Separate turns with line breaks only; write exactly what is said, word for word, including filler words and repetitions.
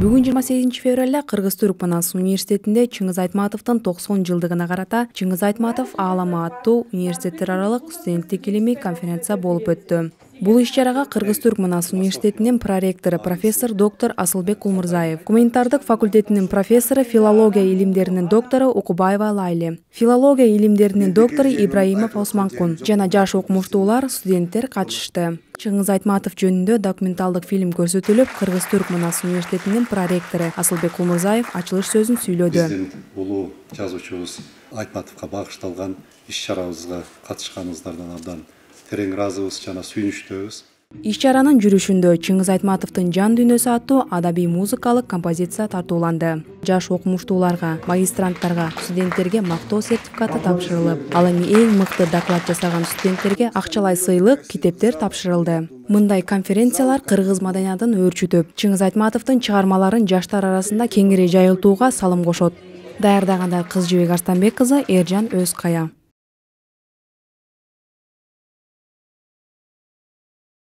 Бүгүн жыйырма сегизинчи февралда Кыргыз-Түрк Манас университетинде Чыңгыз Айтматовдун токсон жылдыгына карата Чыңгыз Айтматов аалама аттуу университеттер аралык студенттик илимий конференция болуп өттү. Бул иш-чарага Кыргыз-Түрк Манас университетинин проректору профессор доктор Асылбек Улмурзаев, гуманитардык факультетинин профессору, филология илимдеринин доктору Укубаева Лайли, филология илимдеринин доктору Ибраимов Османкун жана жаш окумуштуулар, студенттер катышты. Чыңгыз Айтматов жөнүндө документалдык фильм көрсөтүлүп, Кыргыз-Түрк Манас университетинин проректору Асылбек Улмурзаев ачылыш сөзүн сүйлөдү.
Биздин улуу жазуучубуз Айтматовго багышталган иш-чарабызга катышканыңыздардан абдан терең ыраазыбыз жана сүйүнүчтөбүз.
Иш-чаранын жүрүшүндө Чыңгыз Айтматовдун жан дүйнөсү аттуу адабий музыкалык композиция тартууланды. Жаш окумуштууларга, магистранттарга, студенттерге мактоо сертификаты тапшырылып, ал эми эң мыкты доклад жасаган студенттерге акчалай сыйлык, китептер тапшырылды. Мындай конференциялар кыргыз маданиятын өөрчүтүп, Чыңгыз Айтматовдун чыгармаларын жаштар арасында кеңири жайылтууга салым кошот. Даярдаганда Кыз Жибек Арстанбек кызы, Эржан Өзкая.